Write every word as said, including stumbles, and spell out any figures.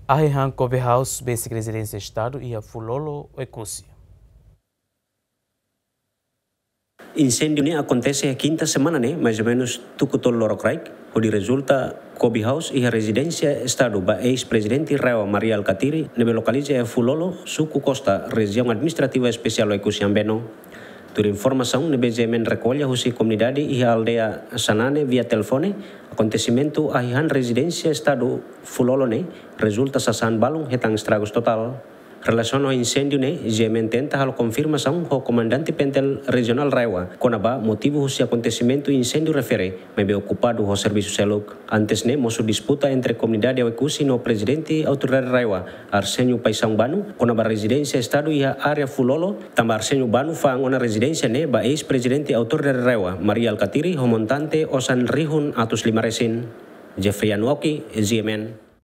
Ahi han Kobe House besik rezidénsia Estadu iha Fulolo, Oekusi. Inséndiu ne'e akontese iha kinta semana ne'e, mais ou menus tuku tolu lorokraik, hodi rezulta Kobe House iha rezidénsia Estadu ba eis-prezidente RAEOA Mari Alkatiri, ne'ebé lokaliza iha Fulolo, suku Costa, rejiaun administrativa espesiál Oekusi Ambeno. Tuir informasaun ne'ebé GMN rekolla husi komunidade iha aldeia Sanane via telefone, akontesimentu ahi han rezidénsia Estadu Fulolo ne'e rezulta sasán balun hetan estragus totál. Relasiona ho inséndiu ne'e, GMN tenta halo konfirmasaun ho Komandante PNTL Rejionál RAEOA kona-ba motivu husi akontesimentu inséndiu refere, maibé okupadu ho servisu seluk. Antes ne'e, mosu disputa entre komunidade Oekusi no prezidente Autoridade RAEOA, Arsenio Paixão Bano, kona-ba rezidénsia Estadu iha área Fulolo, tanba Arsenio Bano fa'an ona rezidénsia ne'e ba eis-prezidente Autoridade RAEOA, Mari Alkatiri, ho montante osan rihun atus lima resin. Jeffrey Anuoki, GMN.